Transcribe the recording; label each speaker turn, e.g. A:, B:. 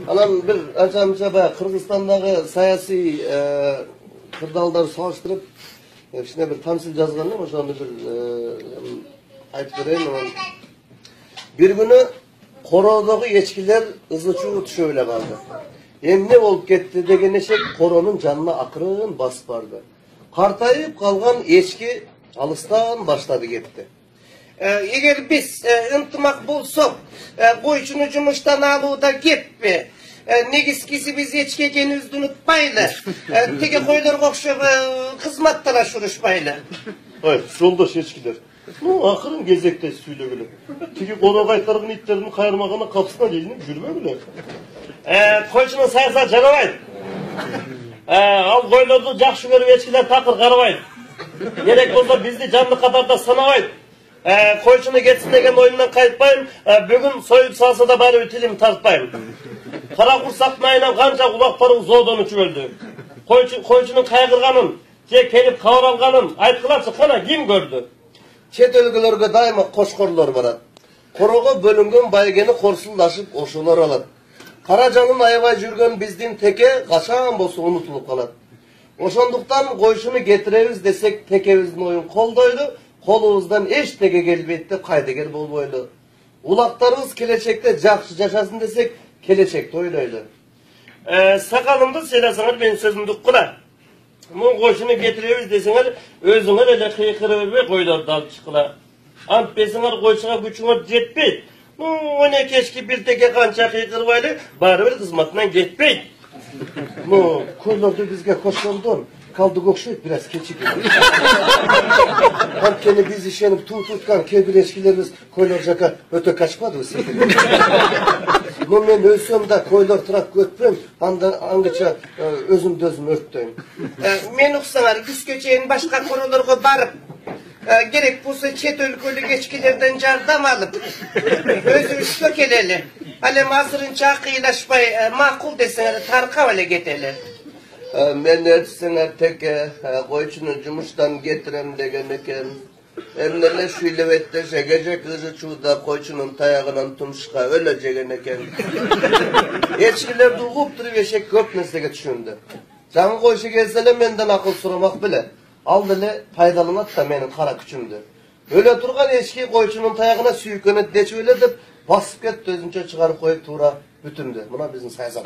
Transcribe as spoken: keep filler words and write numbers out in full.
A: Анан бир анча-мынча баягы Кыргызстандагы саясий кырдаалдарды салыштырып, кичине бир тамсил жазган элем, ошону бир айтып берейин. Анан бир күнү короодогу эчкилер ызы-чуу түшө эле калды. Эмне болуп кетти деген эшек коронун жанына акырын басып барды. Картайып калган эчки алыстан баштады кетти.
B: Эгер биз ынтымак болсок, койчуну жумуштан алууда кеппи. Негизгиси биз эчки экенибизди унутпайлы. Теге койлорго окшоп кызмат талашып
A: Ой, жолдош эчкилер. Ну, акырын кезекте сүйлөгүлө. Тиги кoro кайтарган иттердин кайырмагана капысына илинип жүрбөгүлө.
B: Койчунун саясаты жарабайт.
A: Ал койлорду жакшы көрүп эчкилер такыр карабайт.
B: Керек болсо бизди жанды катарда санабайт. Койчуну кетсин деген оюмдан кайтпайм. Бүгүн союп салса да барыбир тилим тартпайм. Кара курсактын айынан канча кулактарыбыз оодон учуп өлдү. Койчунун кайгырганын, же келип кабар алганын айткылачы, кана ким көрдү?
A: Чет өлкөлөргө дайыма кошкорлор барат. Корого бөлүнгөн байгени корсулдашып ошолор алат. Кара жанын аябай жүргөн биздин теке качан болсо унутулуп калат. Ошондуктан койчуну кетиребиз десек, текебиздин оюн колдойлу, колубуздан эчтеке келбейт деп кайдыгер болбойлу. Улактарыбыз келечекте жакшы жашасын десек, келечекти ойлойлу.
B: Сакалымды сыйласаңар менин сөзүмдү уккула. Мун койчуну кетиребиз десеңер, өзүңөр эле кыйкырып бербей койлорду алып чыккыла. Антпесиңер койчуга күчүңөр жетпейт. Ну, оне кечки бир теке канча кыйкырбайлы, барыбир кызматынан кетпейт.
A: Ну, койлорду бизге кошкондон калдык окшойт, бир аз кечигип. Анткени биз ишенип туу туткан кээ бир эчкилерибиз койлор жака өтө качпадыбы секирип. Но мен өлсөм да койлор турап өтпөйм, анда аңгыча өзүмдү өзүм өрттөйм.
B: Мен уксаңар күзгө чейин башка королорго барып, керек болсо чет өлкөлүк эчкилерден жардам алып, өзүбүзгө келели. Ал эми азырынча кыйлашпай, макул десеңер таркап эле кетели.
A: Мен айтсаңар теке койчуну жумуштан кетирем деген экен. Эмне эле шүйлөбөйт десе, кече ызы-чууда койчунун таягынан тумушка өлө жеген экен. Эчкилерди угуп туруп эшек көп нерсеге түшүндү. Жаңы койчу келсе эле менден акыл сурамак беле. Ал деле пайдаланат да менин кара күчүмдү. Өлө турган эчки койчунун таягына сүйкөнөт дечип эле деп басып кетти, өзүнчө чыгарып коюп туура бүтүндү. Мына биздин саясат.